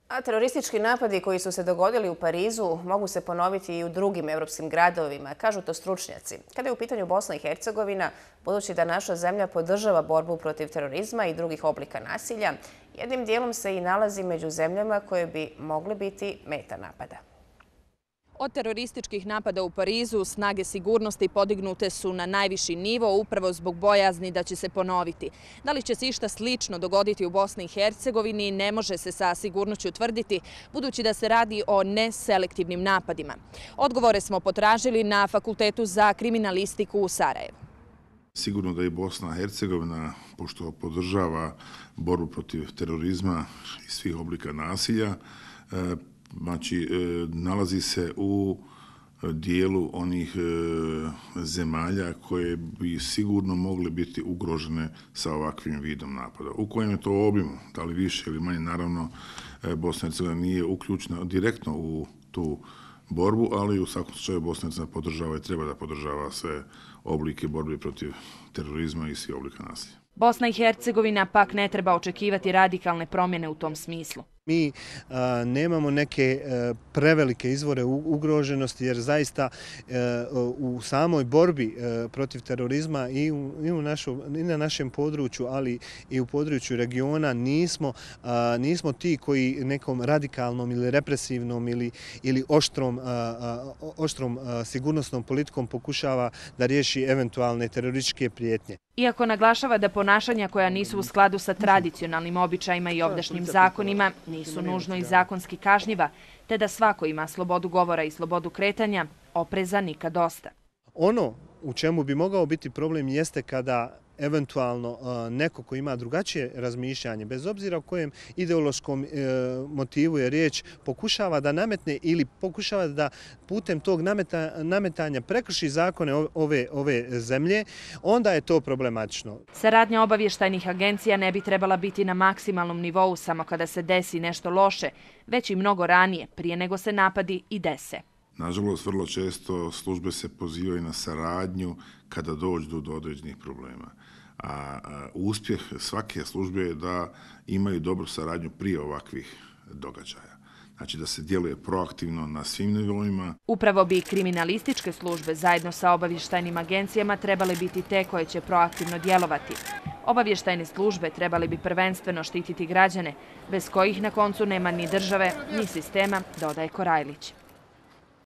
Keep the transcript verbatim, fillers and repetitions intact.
A teroristički napadi koji su se dogodili u Parizu mogu se ponoviti i u drugim europskim gradovima, kažu to stručnjaci. Kada je u pitanju Bosna i Hercegovina, budući da naša zemlja podržava borbu protiv terorizma i drugih oblika nasilja, jednim dijelom se i nalazi među zemljama koje bi mogle biti meta napada. Od terorističkih napada u Parizu snage sigurnosti podignute su na najviši nivo upravo zbog bojazni da će se ponoviti. Da li će se išta slično dogoditi u Bosni i Hercegovini ne može se sa sigurnošću tvrditi, budući da se radi o neselektivnim napadima. Odgovore smo potražili na Fakultetu za kriminalistiku u Sarajevu. Sigurno da i Bosna i Hercegovina, pošto podržava borbu protiv terorizma i svih oblika nasilja, znači, nalazi se u dijelu onih zemalja koje bi sigurno mogle biti ugrožene sa ovakvim vidom napada. U kojem je to obimu, da li više ili manje, naravno, Bosna i Hercegovina nije uključena direktno u tu borbu, ali u svakom slučaju Bosna i Hercegovina podržava i treba da podržava sve oblike borbe protiv terorizma i svih oblika nasilja. Bosna i Hercegovina pak ne treba očekivati radikalne promjene u tom smislu. Mi a, nemamo neke a, prevelike izvore ugroženosti jer zaista a, u samoj borbi a, protiv terorizma i, u, i, u našu, i na našem području, ali i u području regiona nismo, a, nismo ti koji nekom radikalnom ili represivnom ili, ili oštrom, a, a, oštrom a, sigurnosnom politikom pokušava da riješi eventualne terorističke prijetnje. Iako naglašava da ponašanja koja nisu u skladu sa tradicionalnim običajima i ovdašnjim zakonima nisu nužno i zakonski kažnjiva, te da svako ima slobodu govora i slobodu kretanja, opreza nikad dosta. Ono u čemu bi mogao biti problem jeste kada eventualno neko ko ima drugačije razmišljanje, bez obzira o kojem ideološkom motivu je riječ, pokušava da nametne ili pokušava da putem tog nametanja prekrši zakone ove, ove zemlje, onda je to problematično. Saradnja obavještajnih agencija ne bi trebala biti na maksimalnom nivou samo kada se desi nešto loše, već i mnogo ranije, prije nego se napadi i dese. Nažalost, vrlo često službe se pozivaju na saradnju kada dođu do određenih problema. A uspjeh svake službe je da imaju dobru saradnju prije ovakvih događaja. Znači da se djeluje proaktivno na svim nivoima. Upravo bi kriminalističke službe zajedno sa obavještajnim agencijama trebale biti te koje će proaktivno djelovati. Obavještajne službe trebali bi prvenstveno štititi građane, bez kojih na koncu nema ni države, ni sistema, dodaje Korajlić.